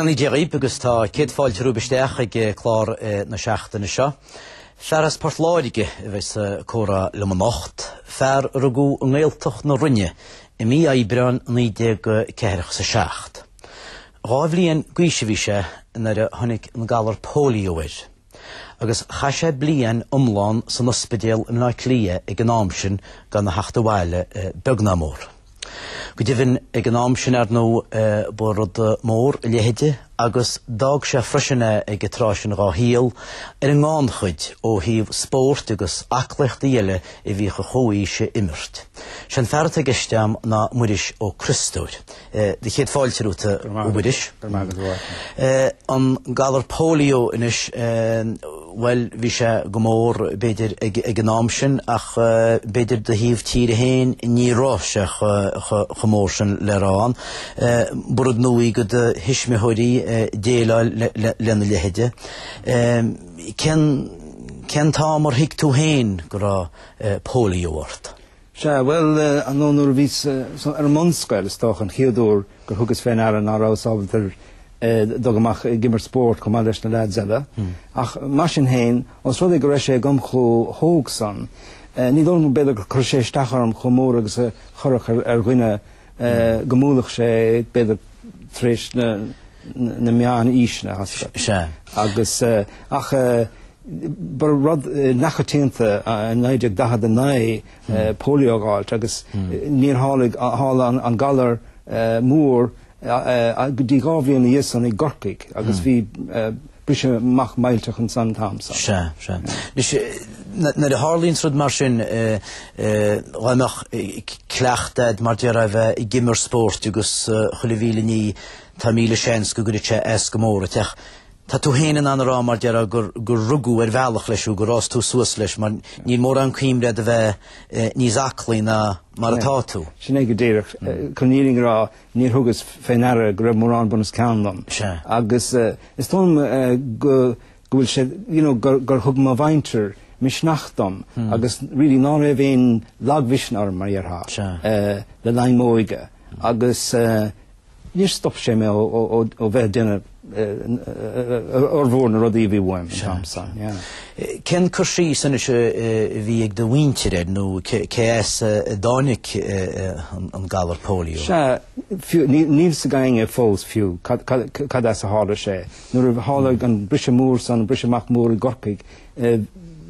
Beannacht Dé dhaoibh agus tá céad fáilte romhaibh isteach ag clár na seachtaine seo. Fear as Port Láirge a bheas ag comhrá liom anocht, fear a rugadh i nGaeltacht na Rinne i mí Aibreáin 1947. Dhá bhliain d'aois a bhí sé nuair a tháinig an galar polio air. Agus chaith sé bliain iomlán san ospidéal i mBleá Cliath ag an am sin gan a theacht abhaile beag ná mór. Go deimhin ag an am sin ar ndóigh ba rud mór a leithide agus d'fhág sé freisin é ag an tráth sin dhá shaol ar an ngannchuid ó thaobh spóirt agus aclaíochtaí eile a bhíodh a chomhaois a imirt. Sé an fear atá i gceist agam ná Muiris Ó Criostóir. Do chéad fáilte romhat, a Mhuiris. Go raibh maith agat, a Mháirtín. An galar polio anois, bhuel, bhí sé go mór, b'fhéidir, ag an am sin, ach b'fhéidir do thaobh tíre féin ní raibh sé chomh mór sin le rá ann. Ba rud nua é do do thuismitheoirí déileáil lena leithide. Cén, cén t-am ar thuig tú féin go raibh polio ort? Sea, bhuel, ar ndóigh nuair a bhíos ar an mbunscoil, is dócha, an chéad uair gur thugas fé ndeara ná rabhas ábalta dul amach ag imirt spóirt chomh maith leis na leaids eile. Ach mar sin féin, ós rud é go raibh sé agam chomh hóg san, ní dóigh liom b'fhéidir gur chuir sé isteach orm chomh mór agus a chuirfeadh ar dhuine go mbuailfeadh sé, b'fhéidir, tar éis na meán-aoiseanna, tá 's agat. Sea. Agus, ach ba rud neamhchoitianta i 1949 polio a dh'fháilt agus níor tharlaigh, tharla an galar mór go dtí dhá bhliain ina dhiaidh san i gCorcaigh agus bhí briseadh amach millteach ansan an t-am san. Sea, sea. Anois, nuair a tharlaíonns rud mar sin, dhá mbeadh cleachtadh a'd mar déarfá a bheith ag imirt spóirt agus chuile mhíle ní, tá míle seans go gcuirfeadh sé as go mór ort ach tá tú féin in ann a rá mar déarfá gur, gur rugadh ar bhealach leis thú, gur fhás tú suas leis mar níl mórán cuimhne a'd a bheith níos aclaí ná mar atá tú. Sin é go díreach. Chun an fhírinne a rá, níor thugas fé ndeara go raibh mórán bun os cionn liom. Sea. Agus is dóigh liom go, go bhfuil sé, you know, gur, gur thug mo mhuintir misneach dom agus really ná raibh aon lagmhisneach orm mar a déarfá. Sea. Le linn m'óige. Agus níor stop sé mé ó bheith ag déanamh fhormhór na rudaí a bhí uaim an t-am san, yeah. Cén cur síos anois a bhí ag do mhuintir air nó cé as a dtáinig an galar polio? Sea, fiú, níl 'fhios ag éinne fós fiú cad as a tharla sé. Nuair a tharla an briseadh mór san, an briseadh amach mór i gCorcaigh,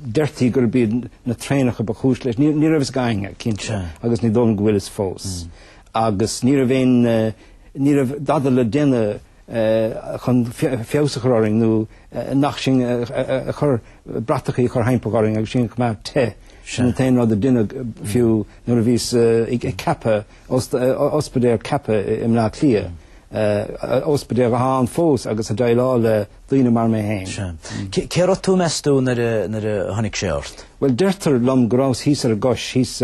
Deirtí gurb iad na traenacha ba chúis leis. Ní raibh fhios ag éinne, cinnte, agus ní dóigh liom go bhfuil fhios fós. Agus ní raibh aon, ní raibh dada le déanamh chun feabhas a chur orainn nó nach sinn a chur, bratachaí a chur thimpeall orainn agus sinn a choimeád te. Sin an t-aon rud a deineadh fiú nuair a bhíos ag ceapadh, ospidéal ceaptha i mBleá Cliath, ospidéal atá ann fós agus ag déileáil le daoine mar mé féin. Sea. Cé raibh tú, meas tú, nuair a, nuair a tháinig sé ort? Bhuel, deirtear liom go rabhas thíos ar an gcois, thíos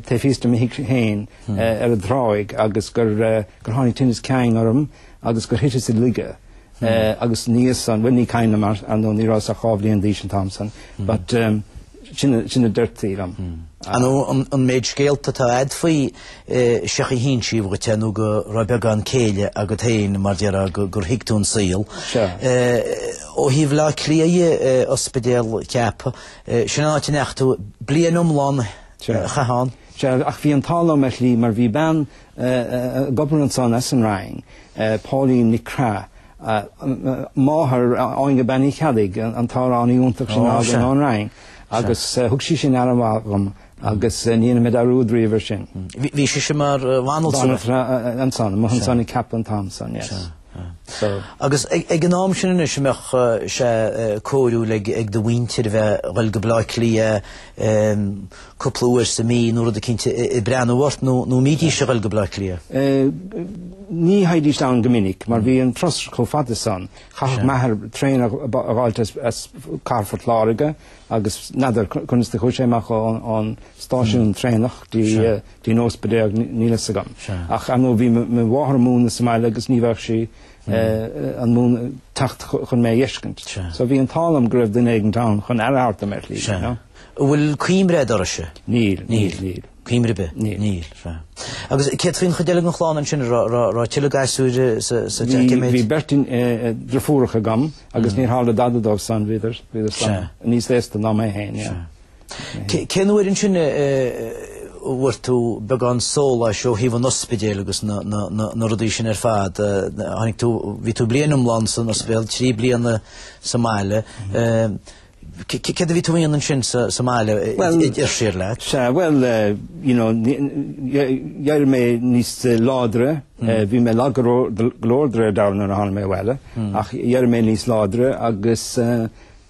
taobh thíos de mo thigh féin ar an dtráigh agus gur, gur tháinig tinneas ceann orm agus gur thiteas i laige. Agus ina dhiaidh san, bhuel ní cuimhin liom ar ndóigh ní rabhas ach dhá bhliain d'aois an t-am san, but sin, sin a deirtí liom. Ar ndóigh an méid scéalta atá a'd faoi Seochaí a hinsíodh dhuit é nó go raibh beagán céille agat féin mar déarfá gur thuig tú an saol. Sea. Ó thaobh Bhaile Átha Cliath dhe, ospidéal ceaptha, sin an áit a ndeachaigh tú, bliain iomlán a chaitheamh ann. Sea, ach bhí an t-ádh liom ar shlí mar bhí bean ag obair ansan as an Rinn, Pauline Nic Craith, máthair Áine Bean Uí Cheallaigh, an t-amhránaí iontach sin a thagann ón Rinn, agus thug sí sin aire mhaith dhom agus ní dhéanfaidh mé dearúd riamh air sin. Bhí sise mar bhanaltra? Banaltra ansan, amuigh ansan i gCeapaigh an t-am san, yes. So. Agus ag an am sin anois an mbeadh sé cóiriúil ag do mhuintir a bheith ag dul go Baile Átha Cliath cúpla uair sa mí nó rud eicínt ag breathnú ort nó an mbídís ag dul go Baile Átha Cliath? Ní théidís ann go minic mar bhí an turas chomh fada san. Chaithfeadh m'athair traein a dh'fháilt as Cathair Phort Láirge agus n'fheadar conas do chuaigh sé amach ón stáisiún traenach dtí an ospidéal, níl fhios agam. Ach ar ndóigh bhí mo mháthair ag múineadh sa mbaile agus ní bheadh sí in ann teacht chun mé a dh'fheiscint. So bhí an t-ádh liom go raibh duine éigint ann chun aire a thabhairt dom ar shlí, you know. An bhfuil cuimhne a'd uirthise? Níl, níl, níl. Cuimhne ar bith? Níl. Níl, sea. Agus céard faoin chuid eile den chlann ansin, an raibh tuilleadh gasúir sa teach, cé mhéad? Bhí beirt deirfiúracha agam agus níor tharla dada dóibh san, bhíodar, bhíodar san níos aosta ná mé féin, yeah. Cén uair ansin a bhfuair tú beagán sóláis ó thaobh an ospidéil agus na rudaí sin ar fad? Tháinig tú, bhí tú bliain iomlán san ospidéal, 3 bliana sa mbaile. Céard a bhí tú a dhéanamh ansin sa mbaile ar siar leat? Sea, bhuel, you know, d'éirigh mé níos láidre, bhí mé lag go leor de réir dealraimh nuair a tháinig mé abhaile, ach d'éirigh mé níos láidre agus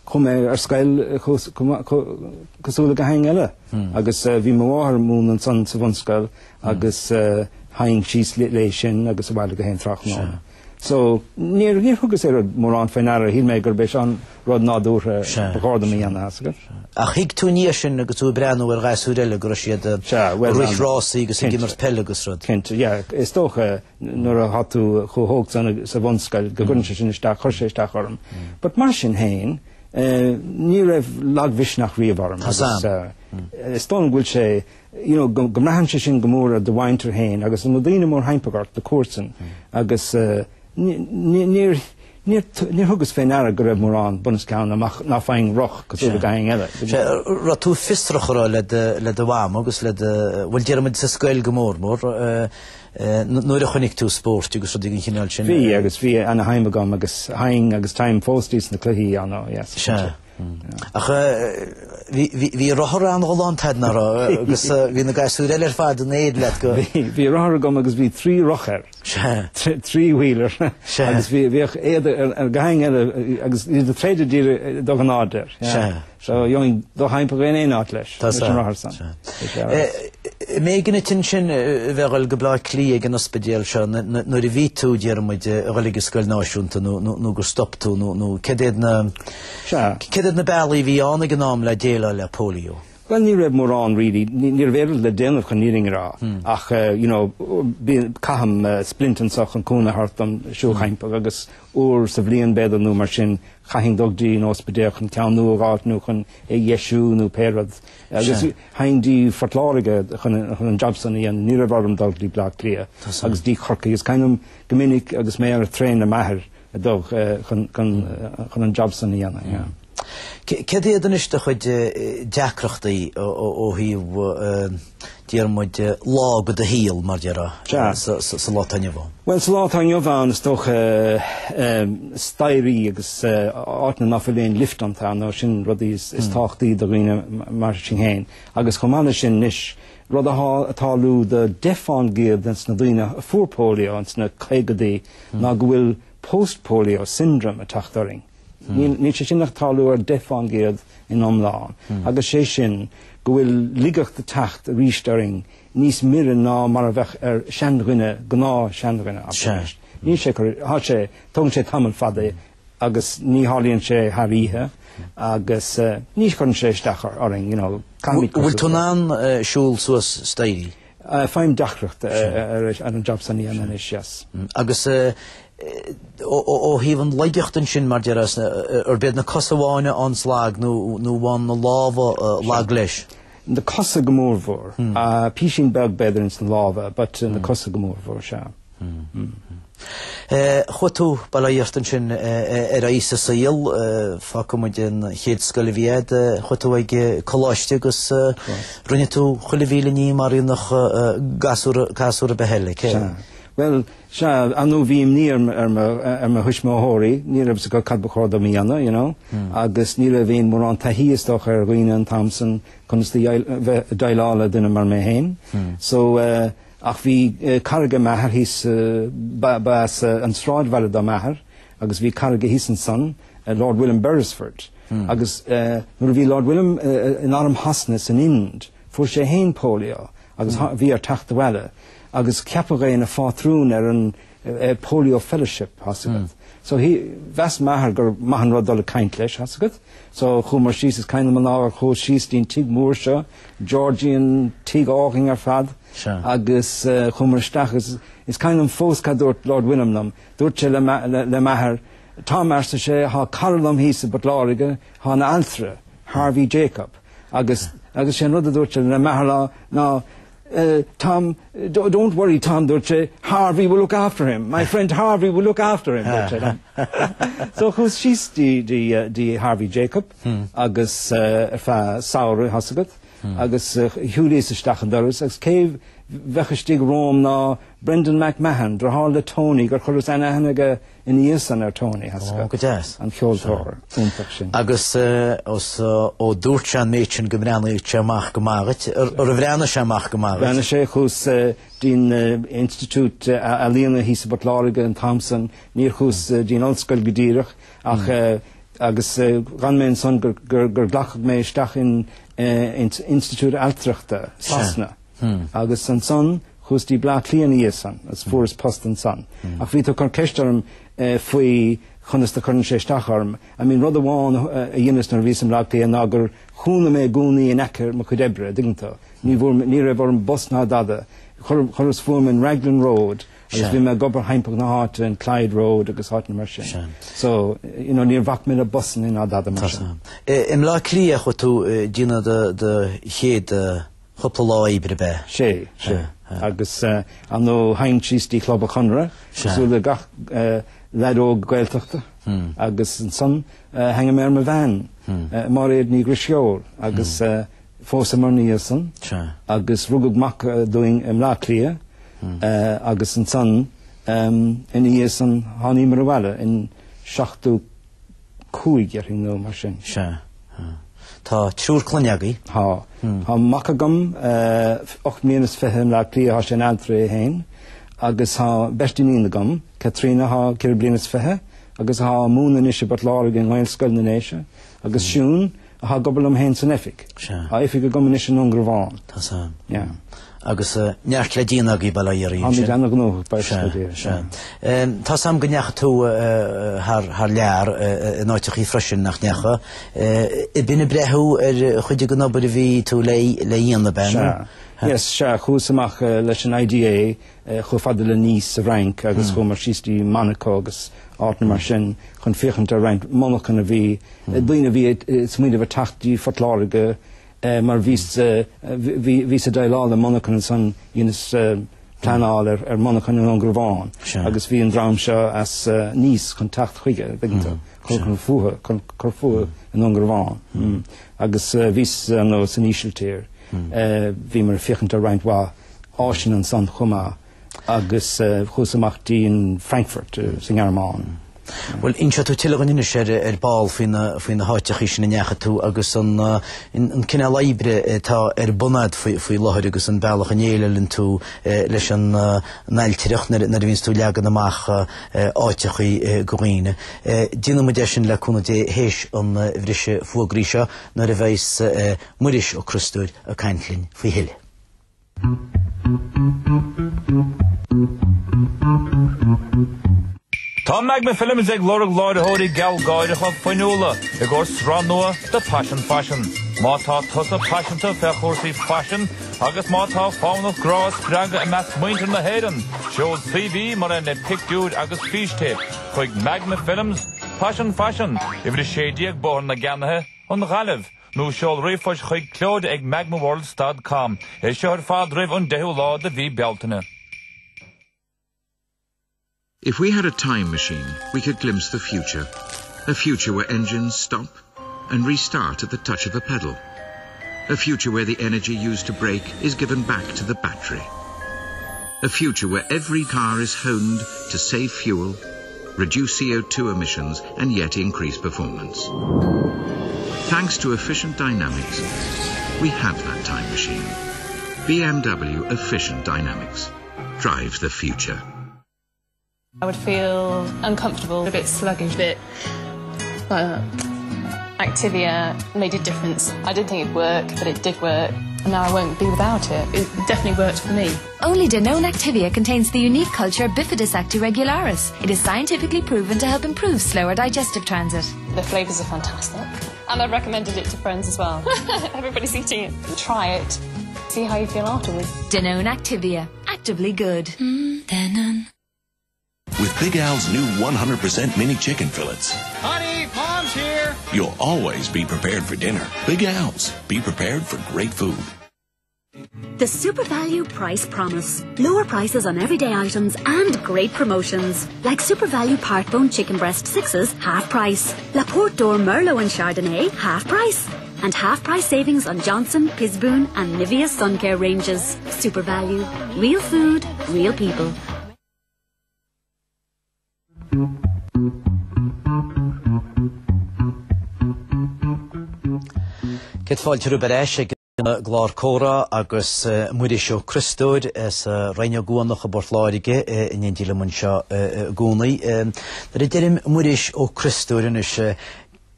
chuaigh mé ar scoil cosúil le gach éinne eile. Agus bhí mo mháthair ag múineadh ansan sa bhunscoil agus théinn síos léi sin agus abhaile gach aon tráthnóna. So, níor, níor thugas aon rud mórán faoi ndeara, shíl mé gurb é seo an rud nádúrtha ba chóir dom a dhéanamh, tá 's agat. Ach thuig tú ina dhiaidh sin agus tú ag breathnú ar ghasúir eile go raibh siad ag rith rásaí agus ag imirt peile agus rud. Cinnte, yeah. Is dócha nuair atá tú chomh hóg san sa bhunscoil go gcuireann sé sin isteach, chuir sé isteach orm. But mar sin féin, ní raibh lagmhisneach riamh orm agus is dóigh liom go bhfuil sé, you know, go mbraitheann sé sin go mór ar do mhuintir féin agus na daoine mórthimpeall ort, na comharsain, agus níor, níor, níor thugas fé ndeara go raibh mórán bunoscionn amach ná faighinn roth cosúil le gach éinne eile. Sea, raibh tú fiosrach a raibh le do, le do mham agus le do, bhuel déarfaidh muid sa scoil go mór mór, nuair a chonaic tú spóirt agus rudaí den chineál sin. Bhí agus bhí ana-shuim agam agus théinn agus téim fós dtí sna cluichí, you know, yes. Sea. Ach bhí rothar an-ghalánta agat, nach raibh, agus bhí na gasúir eile ar fad in éad leat go. Bhí rothar agam agus bhí trí roth air. Sea. Three-wheeler. Sea. Agus bhíodh éad ar gach éinne eile agus iad ag troid díreach do ghnáth air. Sea. So gheobhainn do thimpeall in aon áit leis. Tá leis an rothar san. Sea. M'éigean duit ansin a bheith ag dul go Bleá Cliath ag an ospidéal seo nuair a bhí tú, déarfaidh muid, ag dul ag an scoil náisiúnta nó gur stop tú nó céard iad na Sea. Céard iad na bealaí a bhí ann ag an am le déileáil le polio? Bhuel, ní raibh mórán really, ní raibh aon rud le déanamh chun an fhírinne a rá, ach you know, bíonn, caithim splint anso chun cúnamh a thabhairt dom siúl thimpeall agus uair sa bhliain b'fhéidir nó mar sin, chaithfinn dul dtí an ospidéal chun ceann nua a dh'fháilt nó chun é a dheisiú nó pé rud. Agus théinn dtí Phort Láirge chun an job san a dhéanamh, ní raibh orm dul dtí Bleá Cliath agus dtí Corcaigh. Is cuimhin liom go minic agus mé ar an traein le m'athair, a dul chun an job san a dhéanamh, yeah. Céard iad anois do chuid deacrachtaí ó thaobh, déarfaidh muid, lá de do shaol, mar déarfá, sa lá atá inniu ann? Bhuel, sa lá atá inniu ann, is dócha, staighrí agus áiteanna ná fuil aon lift iontu, nó sin rudaí is tábhachtaí do dhaoine mar sin féin. Agus chomh maith leis sin anois, rud athá ag tarlú do 10% de na daoine a fuair polio ins na caogadaí, ná go bhfuil post-polio syndrome ag teacht orainn. Níl sé sin ach ag tarlú ar 10% in iomlán. Agus sé sin go bhfuil laigeacht ag teacht arís orainn níos mire ná mar a bheadh ar seandhuine, gnáth seandhuine. Níl sé, tá sé, tógann sé tamall fada agus ní tharlaíonn sé thar oíche agus ní chuireann sé isteach orainn, you know. Bhfuil tú in ann siúl suas staighrí? Faighim deacracht ar an job san a dhéanamh anois, yes. Agus ó thaobh an laigeacht ansin, mar déarfá, arb iad na cosa amháin a fhaigheanns lag nó an bhfaigheann na lámha lag leis? Na cosa go mórmhór. Písín beag b'fhéidir ins na lámha, but na cosa go mórmhór, sea. Chuaigh tú, bail ó Dhia ort ansin, ar aghaidh sa saol, fágfaidh muid an chéad scoil a bhí agat, chuaigh tú ag coláiste agus rinne tú chuile mhíle ní mar a dhéanfadh gasúr, gasúr ar bith eile, cé? Sea. Bhuel, sea, ar ndóigh bhí imní ar ar mo thuismitheoirí, ní raibh 'fhios acu cad ba chóir dom a dhéanamh, you know, agus ní raibh aon mórán taithí is dócha ar dhaoine an t-am san conas bheith ag déileáil le duine mar mé féin. So, Ach bhí cara age m'athair thíos, ba as an sráidbhaile do m'athair agus bhí cara aige thíos ansan, Lord William Beresford. Agus nuair a bhí Lord William in arm Shasana san Ind, fuair sé fhéin polio agus bhí air teacht abhaile agus ceapadh é ina phátrún ar an Polio Fellowship, tá's agat. So mheas m'athair gur maith an rud dul ag caint leis, tá's agat. So chuamar síos, is cuimhin liom an lá ar chuas síos dtí'n tigh mór seo, Georgian tigh álainn ar fad, agus chuamar isteach agus is cuimhin liom fós cad dúirt Lord William liom. Dúirt sé le m'athair, Tom, arsa sé, thá cara liom thíos i bPort Láirge, thá ina altra, Harvey Jacob. Agus agus sé an rud a dúirt sé le m'athair ná. Tom, don't worry Tom, dúirt sé, Harvey will look after him, my friend Harvey will look after him, dúirt sé liom. So chuas síos dtí Harvey Jacob agus ar feadh samhraidh, tá's agat, agus shiúlaíos isteach an doras agus cé bheadh istigh romham ná Brendan McMahon, deartháir le Tony, gur chuireas an-aithne aige ina dhiaidh san ar Tony, tá's agat. Ó, go deas. An ceoltóir iontach sin. Agus ó dúirt sé an méid sin go mbreathnaíodh sé amach go maith dhuit, ar bhreathnaigh sé amach go maith dhuit? Bhreathnaigh sé, chuas dtí'n Institiúid Ealaíona thíos i bPort Láirge an t-am san, níor chuas dtí'n ollscoil go díreach ach agus d'fhan mé ansan gur glacadh mé isteach in Institiúid Ailtireachta, Sasana. Agus ansan Chuas dtí Bleá Cliath ina dhiaidh san agus fuaireas post ansan. Ach bhí tú ag cur ceist orm faoi chonas do cuireann sé isteach orm. I mean rud amháin a dheineas nuair a bhíos i mBleá Cliath ná gur chónaigh mé i gcónaí in aice mo chuid oibre, an dtuigeann tú. Ní bhfuair, ní raibh orm bus ná dada. Chuir, chuireas fúm in Raglan Road agus bhí mé ag obair thimpeall na háite in Clyde Road agus áiteanna mar sin. So, you know, níor bhac mé le busanna ná dada mar sin. I mBleá Cliath a chuaigh tú ag déanamh do, do chéad chúpla lá oibre ab ea? Sea, sea. Agus ar ndóigh théinn síos dtí Club an Chonartha, cosúil le gach leaid óg Gaeltachta, agus ansan tháinig mé ar mo bhean, Máiréad Ní Dhrisceoil, agus phósamar ina dhiaidh san, agus rugadh mac dúinn i mBleá Cliath, agus ansan ina dhiaidh san tháiníomar abhaile in 75, déarfainn nó mar sin. Sea. Tá triúr clainne agaibh. Tá. Tá mac agam, 8 mbliana is 20 i mBleá Cliath, tá sé ina ailtire é féin, agus tá beirt iníon agam, Caitríona atá ceithre bliana is fiche agus atá ag múineadh anois i bPort Láirge i nGaelscoil na nDéise, agus Siún, atá ag obair liom féin san oifig. Sea. Tá oifig agam anois i nDún Garbhán. Tá san. Yeah. Agus neart le déanamh agaibh bail ó Dhia oraibh ansin. Táimid ana-ghnóthach, buíochas le Dia. Sea, sea. Tá 's a'm go ndeachaigh tú thar lear in áiteachaí freisin, nach ndeachaigh? B'in ag breathnú ar chuid den obair a bhí tú le dhéanamh, ab ea? Sea. Yes, sea. Chuas amach leis an IDA chomh fada le Nice sa bhFrainc agus chuamar síos dtí Monaco agus áiteanna mar sin chun féachaint ar roinnt monarchan a bhí, daoine a bhí ag smaoineamh ar teacht dtí Phort Láirge Mar bhíos bhíos ag déileáil le monarchan ansan dheineas pleanáil ar monarchan i nDún Garbhán agus bhí an dream seo as Nice chun teacht chuige, an dtuigeann tú, chun fúthu, chun cur fúthu i nDún Garbhán. Agus bhíos ar ndóigh san Ísiltír, bhíomar ag féachaint ar roinnt mhaith áiseanna ansan chomh maith. agus chuas amach dtí an Frankfurt sa nGearmáin. Bhuel, inseoidh tú tuilleadh dhúinn anois ar ar ball faoi na faoi na háiteachaí sin a ndeachaigh tú agus an an cineál oibre atá ar bun a'd faoi faoi láthair agus an bealach a ndéileálann tú leis an an ailtireacht nuair nuair a bhíonns tú ag leagan amach áiteachaí go dhaoine. Déanfaidh muid é sin le cúnamh Dé théis an bhriseadh fuagraí seo nuair a bheas Muiris Ó Criostóir ag caint linn faoi thuilleadh. Tá Magma Films ag lorg láithreoirí gealgháireacha fuinniúla i gcomhair sraith nua de Paisean Faisean. Má tá tusa paiseanta fé chúrsaí faisin agus má tá fonn ort grá a spreagadh i measc muintir na hÉireann, seol CV mar aon le pictiúir agus fístéip chuig Magma Films, Paisean Faisean, uimhir 16 Bóthar na gCeannaithe, An Ghaillimh. Nó seol ríomhphost chuig Clodagh ag magmaworld stad com. É seo ar fad roimh an 10ú lá de mhí Bealtaine. If we had a time machine, we could glimpse the future. A future where engines stop and restart at the touch of a pedal. A future where the energy used to brake is given back to the battery. A future where every car is honed to save fuel, reduce CO2 emissions and yet increase performance. Thanks to Efficient Dynamics, we have that time machine. BMW Efficient Dynamics. Drive the future. I would feel uncomfortable, a bit sluggish, a bit like that. Activia made a difference. I didn't think it'd work, but it did work. And now I won't be without it. It definitely worked for me. Only Danone Activia contains the unique culture Bifidus actiregularis. It is scientifically proven to help improve slower digestive transit. The flavours are fantastic. And I've recommended it to friends as well. Everybody's eating it. Try it. See how you feel afterwards. Danone Activia. Actively good. Mm, Danone. With Big Al's new 100% mini chicken fillets. Honey, Mom's here! You'll always be prepared for dinner. Big Al's. Be prepared for great food. The SuperValu Price Promise. Lower prices on everyday items and great promotions. Like SuperValu Partbone Chicken Breast Sixes, half price. La Porte d'Or Merlot and Chardonnay, half price. And half price savings on Johnson, Pisboon and Nivea Sun Care ranges. SuperValu. Real food, real people. Céad fáilte romhaibh ar ais ag an gclár Comhrá agus Muiris Ó Criostóir as Rinn Ó gCuanach i bPort Láirge in éindí liom anseo i gcónaí. Nuair a deirim Muiris Ó Criostóir anois,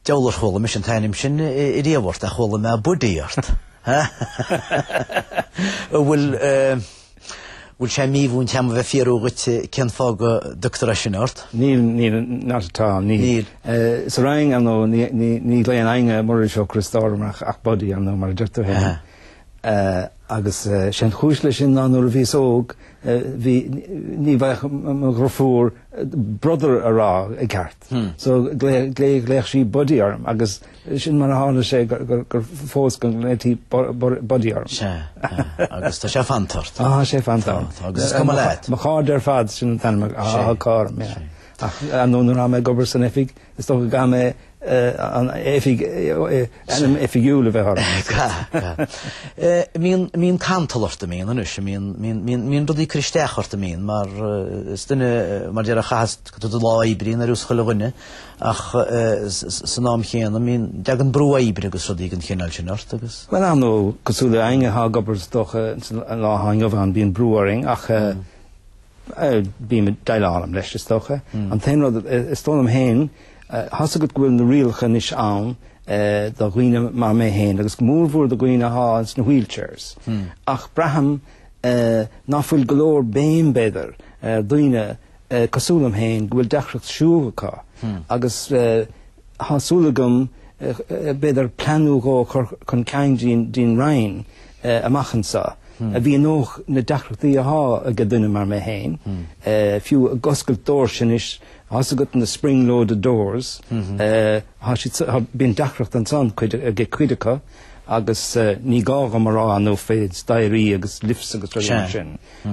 deabhal ar chuala mise an t-ainm sin riamh ort ach chuala mé Buddy ort. An bhfuil bhfuil sé mímhúinte agam a bheith ag fiafraí dhuit cén fáth go dtugtar é sin ort? Níl, níl, not at all, níl. Níl. Sa Rinn, ar ndóigh, ní, ní, ní ghlaonn éinne Muiris Ó Criostóir orm ach, ach Buddy, ar ndóigh, mar a deir tú féin. Agus sé an chúis leis sin ná nuair a bhíos óg, bhí, ní bhfaigheadh mo dhriofúr brother a rá i gceart. So ghlaodh sí Buddy orm agus Sin mar a tharla sé gur fós go nglaoití Buddy orm. Sea, agus tá sé fanta ort. Tá sé fanta orm. Tá, agus is cuma leat. Mo chairde ar fad, sin an t-ainm atá acu orm, yeah. Ach ar ndóigh nuair atá mé ag obair san oifig, is dócha go gcaithfidh mé an oifig, ainm oifigiúil a bheith orm. Mbíonn, mbíonn cantal ort, an mbíonn anois, mbíonn, mbíonn, mbíonn rudaí ag cur isteach ort, an mbíonn, mar is duine, mar a déarfá, a chaitheas do lá oibre ar nós chuile dhuine. Ach san am chéanna, mbíonn, dtagann brú oibre agus rudaí den chineál sin ort agus. Bhuel, ar ndóigh, cosúil le éinne atá ag obair is dócha san lá atá inniu ann, bíonn brú orainn ach bím ag déileáil leis is dócha. An t-aon rud, is dóigh liom féin, tá's agat go bhfuil na rialacha anois ann do dhaoine mar mé féin agus go mórmhór do dhaoine atá sna wheelchairs. Ach braithim ná fuil go leor béim b'fhéidir ar dhaoine cosúil liom féin, go bhfuil deacracht siúl acu agus tá súil agam b'fhéidir plean nó dhó a chur chun cinn dtí'n Roinn amach anso a mhíneodh na deacrachtaí athá ag duine mar mé féin, fiú ag oscailt doirse anois, tá's agat na spring loaded doors, tá siad, bíonn deacracht ansan ag cuid acu agus ní gá dhom a rá ar ndóigh fé staighrí agus lifts agus rudaí mar sin.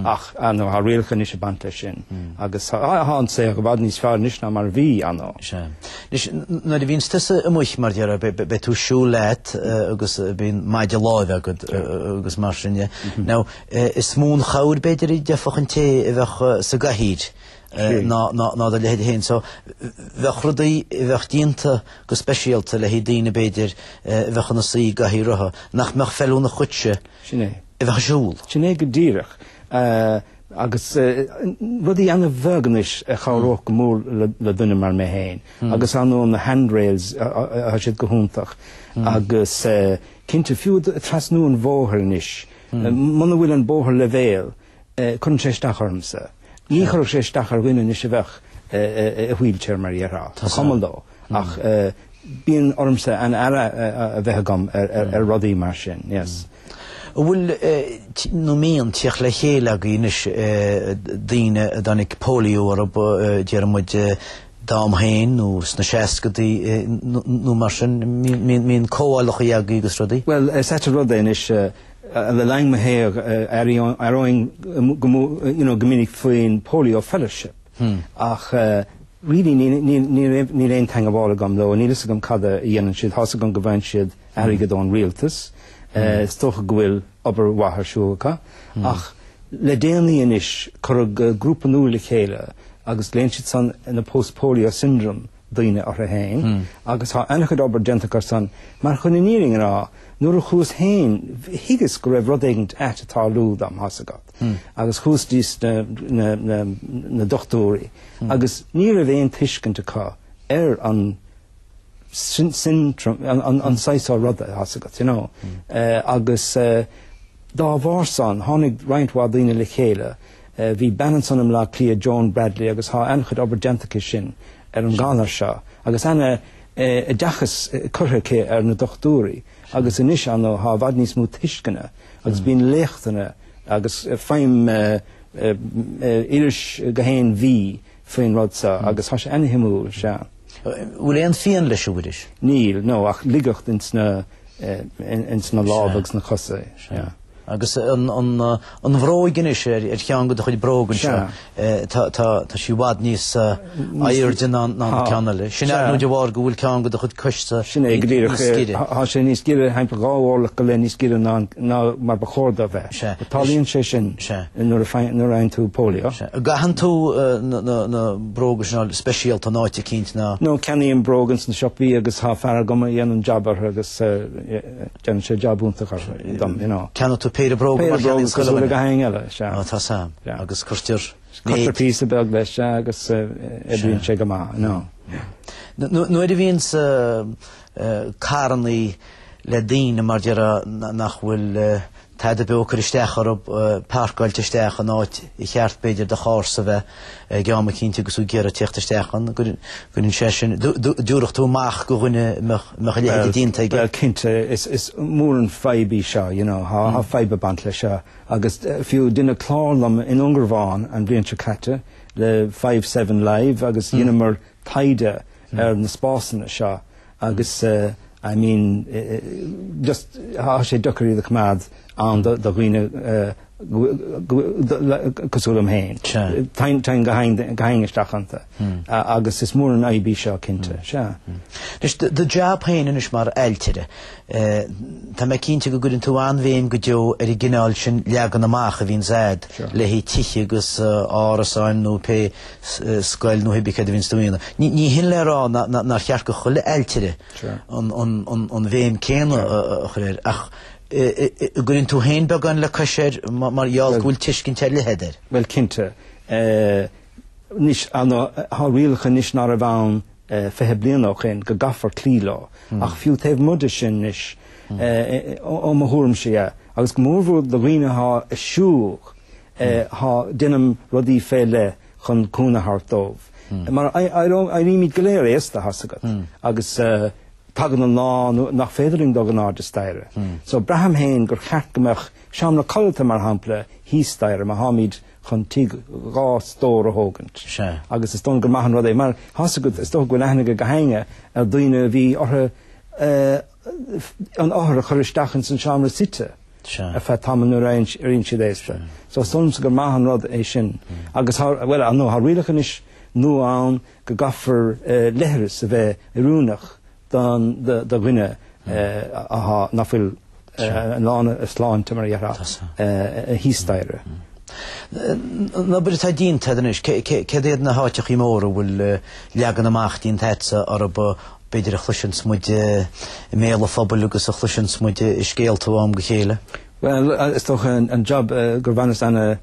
Ach, ar ndóigh, tá rialacha anois ag baint leis sin. Agus tá an saol i bhfad níos fearr anois ná mar a bhí, ar ndóigh. Sea. Anois, nuair a bhíonns tusa amuigh, mar déarfá, beidh tú ag siúl leat agus bíonn maide láimhe agat agus mar sin de. Now, is mó an chabhair, b'fhéidir, a d'fhéadfadh an té a bheadh sa gcathaoir ná ná do leithéid féin. So, bheadh rudaí a bheadh déanta go speisialta le haghaidh daoine, b'fhéidir, a bheadh ina suí i gcathaoir rotha, nach mbeadh feiliúnach dhuitse. Sin é. A bheith ag siúl. Sin é go díreach. Agus rudaí ana-bheag anois a chabhródh go mór le duine mar mé féin. Agus ar ndóigh na handrails, tá siad go hiontach. Agus cinnte, fiú trasnú an bhóthair anois, muna bhfuil an bóthar leibhéal, cuireann sé isteach ormsa. Ní chuirfeadh sé isteach ar dhuine anois a bheadh i wheelchair mar a déarfá. Ba chuma leo. Ach bíonn ormsa an aire a bheith agam ar rudaí mar sin, yes. An bhfuil nó mbíonn teacht le chéile agaibh anois daoine a dtáinig polio orthu, déarfaidh muid d'am féin nó sna seascadaí nó mar sin, mbíonn comhdhálacha agaibh agus rudaí? Bhuel, is ait an rud é anois, le linn mo shaoil, aireoinn go minic faoin Polio Fellowship ach really níl aon teangmháil agam leo, níl fhios agam cad a dhéanann siad, tá's agam go bhfaigheann siad airgead ón rialtas, is dócha go bhfuil obair mhaith ar siúl acu, ach le déanaí anois cuireadh grúpa nua le chéile agus glaonn siad san na Post Polio Syndrome daoine orthu féin agus tá an-chuid obair déanta acu san mar chun an fhírinne a rá nuair a chuas féin thuigeas go raibh rud éigint ait ag tarlú dom, tá's agat. Agus chuas dtí na dochtúirí agus ní raibh aon tuiscint acu ar an syndrome, an saghas seo ruda, tá's agat, you know. Agus dá bharr san, tháinig roinnt mhaith daoine le chéile. Bhí bean ansan i mBleá Cliath, Joan Bradley, agus tá an-chuid obair déanta aici sin ar an ghalar seo agus ana-oideachas curtha aici ar na dochtúirí agus anois, ar ndóigh, tá i bhfad níos mó tuisceana agus bíonn léachtanna agus faighim iris gach aon mhí faoin rud seo agus tá sé ana-shuimiúil, sea. Bhfuil aon phian leis, a Mhuiris? Níl, no, ach laigeacht ins na, ins na lámha agus na cosa, sea. Agus an bhróig anois ar cheann de do chuid bróg anseo, tá sí i bhfad níos airde ná an ceann eile. Sin ar ndóigh de bharr go bhfuil ceann de do chuid coise Sin é go díreach. Tá sé níos giorra, thimpeall 2 orlach go leith níos giorra ná mar ba chóir dó bheith. Tarlaíonn sé sin nuair a fhaigheann tú polio. An gcaitheann tú na bróga sin speisialta in áit eicínt ná? No, ceannaím bróga ins na siopaí agus tá fear agam a dhéanann jab orthu agus Déanann sé jab iontach orthu dom, you know. Ceannaíonn tú péire bróga mar Péire bróga cosúil le gach éinne eile, sea. Á, tá sam. Agus cuirtear Cuirtear píosa beag leis, sea, agus oibríonn sé go maith, you know. Nuair a bhíonns carrannaí le daoine mar déarfá nach bhfuil tada beo ag cur isteach orthu, páirceáilte isteach in áit ar cheart b'fhéidir do charr-sa bheith ag am eicínt agus tú ag iarraidh tíocht isteach ann, gcuireann sé sin, dtabharfadh tú amach go dhuine a mbeadh a leithéid déanta aige. Bhuel, cinnte, is mór an fadhb í seo, you know, tá fadhb ag baint leis seo agus fiú deineadh clár liom i nDúngarbhán an bhliain seo caite le 57 Live agus dheineamar taighde ar na spásanna seo agus I mean just tá sé deacair iad a choimeád ann do dhaoine cosúil liom féin. Téann gach éinne isteach iontu agus is mór an fhadhb í seo cinnte, sea. Anois do jab féin anois mar ailtire, tá mé cinnte go gcuireann tú an-bhéim go deo ar an gcineál sin leagan amach a bhíonns a'd le haghaidh tithe agus árasáin nó pé scoil nó cibé céard a bhíonns tú a dhéanamh. Ní hin le rá nár cheart go chuile ailtire an bhéim céanna a chur air, ach an gcuireann tú féin beagán le cois air mar gheall go bhfuil tuiscint ar leith agat air. Bhuel, cinnte. Anois, tá rialacha anois ná raibh ann 20 bliain ó shin go gcaithfear cloí leo, ach fiú taobh amuigh de sin anois, ó mo thuairimse dhe, agus go mórmhór do dhaoine atá ag siúl, Tá, déanaim rudaí fé leith chun cúnamh a thabhairt dóibh. Mar éirímid go léir aosta, thá's agat, agus tagann an lá nach féidir linn dul in airde staighre. So braithim féin gur cheart go mbeadh seomra codlata, mar shampla, thíos staighre má tháimid chun tigh 2 stór a thógaint. Agus is dóigh liom gur maith an rud é, mar thá's agat, is dócha go bhfuil aithne ag gach éinne ar daoine a bhí orthu an othar a chur isteach ins an seomra suite. ar feadh tamaill nuair a éiríonn siad aosta. So is dóigh liomsa gur maith an rud é sin. Agus tá, bhuel, ar ndóigh, tá rialacha anois nua ann go gcaithfear leithreas a bheith oiriúnach don, do dhuine atá, nach bhfuil i lán a sláinte, mar a déarfá, thíos staighre. An obair atá déanta agat anois, céard iad na háiteachaí móra a bhfuil leagan amach déanta agatsa orthu b'fhéidir a chloiseanns muid i mbéal an phobail agus a chloiseanns muid i scéalta ó am go chéile? Bhuel, is dócha an job gur bhaineas ana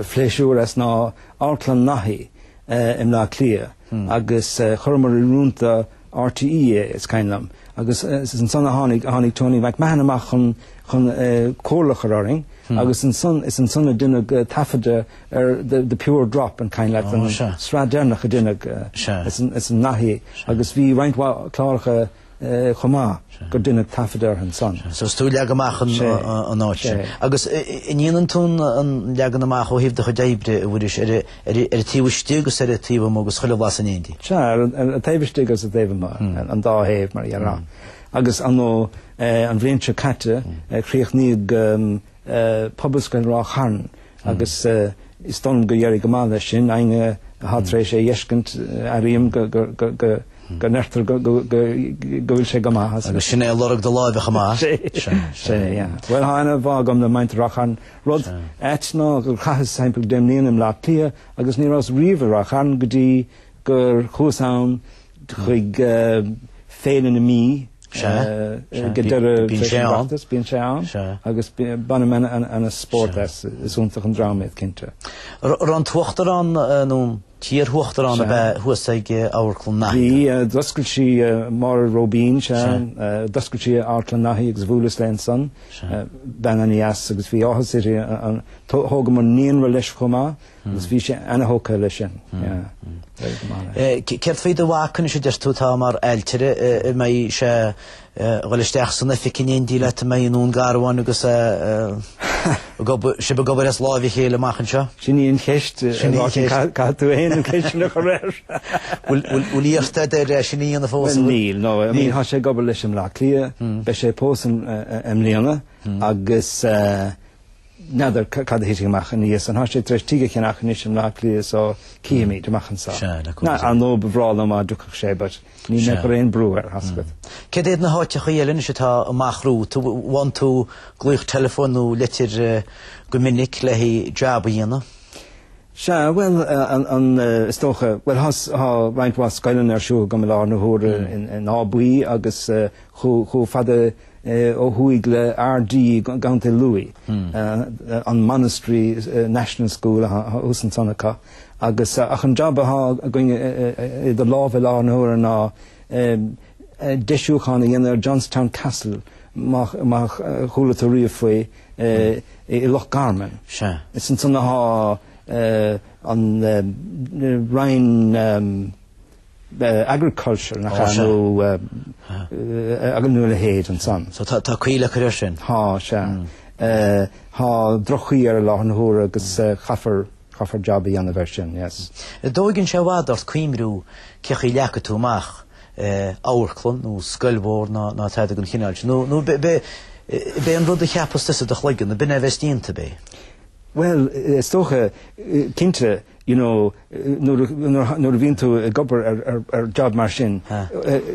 phléisiúr as ná Amharclann Naithí i mBleá Cliath agus chuireamar in oiriúint do RTÉ é, is cuimhin liom. Agus is ansan a tháinig, tháinig Tony McMahon amach chun, chun comhairle a chur orainn agus ansan, is ansan a deineadh taifeadadh ar The Pure Drop an cuimhin leat an sraith deireanach a deineadh ins an Naithí agus bhí roinnt mhaith cláracha chomh maith gur deineadh taifeadadh orthu ansan. So is tú a leag amach an áit sin. Agus an ndéanann tú an leagan amach ó thaobh do chuid oibre, a Mhuiris, ar an taobh istigh agus ar an taobh amuigh agus chuile bhlas in éindí? Sea, ar an taobh istigh agus an taobh amuigh, an dá thaobh mar a déarfá. Agus ar ndóigh, an bhliain seo caite, chríochnaíodh Pobalscoil Ráth Chairn agus is dóigh liom gur éirigh go maith leis sin. Éinne atá tar éis é a dh'fheiscint, airím go ndeirtear go bhfuil sé go maith. Agus sin é lorg do láimhe chomh maith. Sin é, yeah. Bhuel, tá ana-bhá agam le muintir Ráth Chairn. Rud ait ná gur chaitheas timpeall 10 mbliana i mBleá Cliath agus ní rabhas riamh i Ráth Chairn go dtí gur chuas ann chuig Féile na Mí go deireadh Bíonn sé ann. Bíonn sé ann agus bainim ana spórt as. Is iontach an dream iad, cinnte. Raibh an tUachtarán nó an t-iarUachtarán ab ea thuas ag Amharclann Naithí? Bhí, d'oscail sí Máire Róibín, sea, d'oscail sí Amharclann Naithí agus bhuaileas léi ansan, bean ana-dheas agus bhí áthas uirthi, thógamar naíonra leis chomh maith. Agus bhí sé ana-thógtha leis sin. Céard faoi do mhac anois a deir tú atá mar ailtire, an mbeidh sé ag dul isteach san oifig in éindí leat, an mbeidh i nDún Garbhán agus ag obair, sibh ag obair as láimh a chéile amach anseo? Sin í an cheist, Sin í an cheist. Caithfidh tú féin an cheist sin a chur air. Bhfuil iarrta agat air sin a dhéanamh fós? Níl, no. I mean, tá sé ag obair leis i mBleá Cliath, beidh sé ag pósadh i mbliana. agus n'fheadar cad a thitfidh amach ina dhiaidh san. Tá sé tar éis tigh a cheannach anois i mBleá Cliath so cífimid amach anso. Sea, le cúnamh Dé. Ar ndóigh ba bhreá liom dá dtiocfadh sé but níl mé ag cur aon brú air, tá 's agat. Céard iad na háiteachaí eile anois atá amach romhat? Bhfaigheann tú glaoch teileafóin nó leitir go minic le haghaidh jab a dhéanamh? Sea, bhuel, an, is dócha, bhuel, tá, tá roinnt mhaith scoileanna ar siúl agam i láthair na huaire in Áth Buí agus chomh fada ó thuaidh le Ardee i gContae Lú, an Monastery National School atá thuas ansan acu. Agus, ach an jab atá againn idir lámha i láthair na huaire ná deisiúchán a dhéanamh ar Johnstown Castle, má chuala tú riamh faoi. i Loch Garman. Sea. Is ansan atá an Roinn Agriculture, nach ea, nó nó a leithéid ansan. So tá caoi le cur air sin? Tá, sea. Tá droch-chaoi air i láthair na huaire agus caithfear caithfear jab a dhéanamh air sin, yes. An dtóigeann sé i bhfad ort cuimriú cé chaoi a leagfaidh tú amach amharclann nó scoil mhór ná ná tada den chineál sin, nó nó b'é b'é an rud a cheapas tusa i do chloigeann, b'in é a bheas déanta, ab é? Bhuel, is dócha, cinnte, you know, nuair a nuair a bhíonn tú ag obair ar ar ar job mar sin,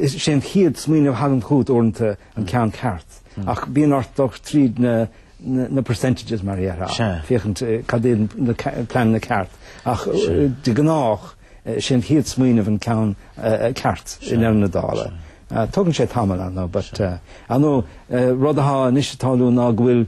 is é an chéad smaoineamh a thagann chugat uaireanta an ceann ceart. Ach bíonn ort dul tríd na na percentages mar a déarfá, féachaint cad iad na pleananna ceart. Ach de gnách, Sé an chéad smaoineamh an ceann ceart i ndeireadh na dála. Tógann sé tamall ar ndóigh but ar ndóigh rud atá anois ag tarlú ná go bhfuil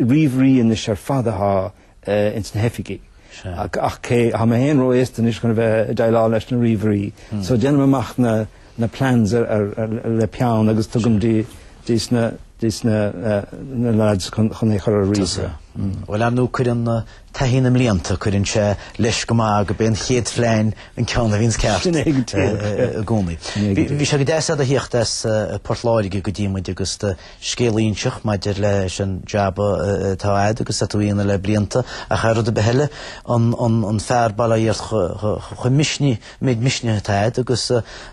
ríomhairí anois ar fad atá ins na hoifigí. Ach cé, tá mé féin ró-aosta anois chun a bheith ag déileáil leis na ríomhairí so déanaim amach na na plans le peann agus tugaim dios na dios na na lads chun é chur ar ríomhaire. Bhuel ar ndóigh cuireann taithí na mblianta, cuireann sé leis go maith gurb é an chéad phlean an ceann a bhíonns ceart Sin é go díreach. i gcónaí. Bhí sé go deas agat a thíocht as Port Láirge go dtí muid agus do scéal a inseacht maidir leis an jab atá agat agus atá tú a dhéanamh le blianta ach ar rud ar bith eile an fear bail ó Dhia ort chomh misnigh méid misnigh atá agat agus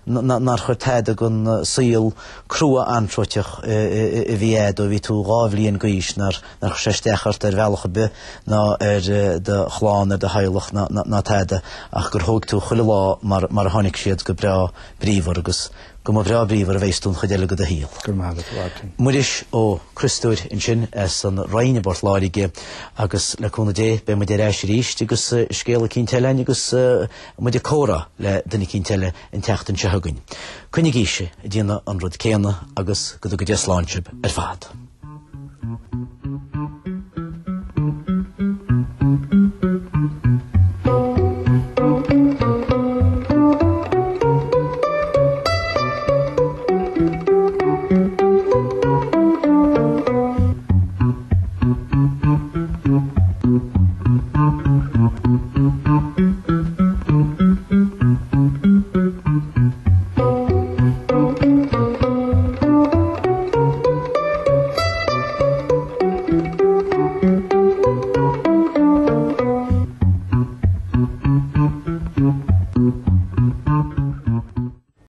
nár chuir tada den saol crua anróiteach a bhí agat ó bhí tú 2 bhliain d'aois nár chuir sé isteach ort ar bhealach ar bith ná ar do chlann, ar do theaghlach ná tada ach gur thóig tú chuile lá mar a tháinig siad go breá bríomhar agus go mba bhreá bríomhar a bheas tú an chuid eile de do shaol. Go raibh maith agat, a Mháirtín. Muiris Ó Criostóir ansin as an Rinn i bPort Láirge agus le cúnamh Dé beidh muid ar ais arís agus scéal eicínt eile againn agus muid ag comhrá le duine eicínt eile an tseachtain seo chugainn. Coinnigíse ag déanamh an rud céanna agus go dtuga Dia slán sibh ar fad.